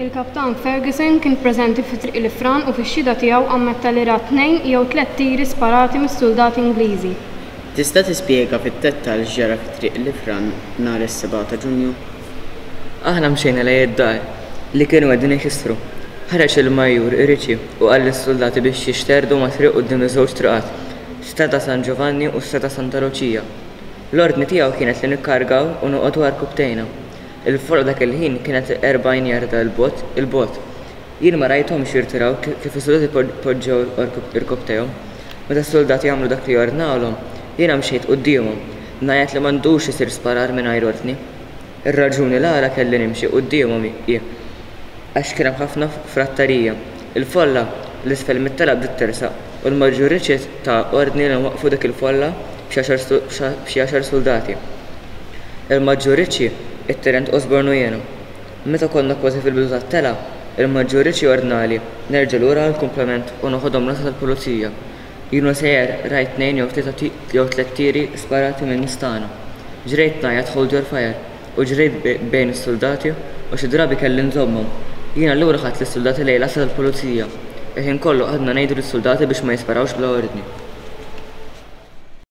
Il-Kaptan Ferguson kien preżenti fi Triq l-Ifran u fix-xhieda tiegħu ammetta li ra tnejn jew tlett tiri sparati mis-suldati Ingliżi. Tista' tispjega fid-dettall x'ġara fi Triq l-Ifran nhar is-sebgħa ta' Ġunju? Aħna mxejna lejn id-dar, li kienu qegħdin ikissru. Ħareġ il-Majjur Ritchie u qal lis-suldati biex jixterdu mat-triq quddiem iż-żewġ triqat, Strada San Giovanni u Strada Santa Lucia. L-ordni tiegħu kienet li nikkargaw u noqogħdu għarkupptejna. Il-folla dak il-ħin kienet 40 jarda 'l bogħod 'il bogħod. Jien ma rajthomx jirtiraw kif is-suldati poġġew irkopptejhom. Meta s-suldati għamlu dak li ordnawlhom, jiena mxejt quddiemhom, ngħajjat li m'għandux isir sparar mingħajr ordni. Ir-raġuni l-għala kelli nimxi quddiemhom hi għax kien hemm ħafna frattarija. Il-folla 'l isfel mit-telgħa bdiet tersaq u l-Maġġur Richard ta ordni li nwaqqfu dik il-folla b'xi għaxar suldati. Il-Maġġur Ritchie, it-Tenent Osborne u jiena. Meta konna kważi fil-bidu tat-telgħa, il-Maġġur Ritchie ordnali nerġa' lura għall-kumplament u noħodhom l-għassa tal-pulizija. Jien u sejjer rajt tnejn jew tlieta jew tlett tiri sparati min-nies tagħna. Ġrejt ngħajjat hold your fire u ġrejt bejn is-suldati u xi drabi kelli nżommhom. Jien allura ħadt lis-suldati lejn l-għassa tal-pulizija. Il-ħin kollu qgħadna ngħidu lis-suldati biex ma jisparawx bla ordni.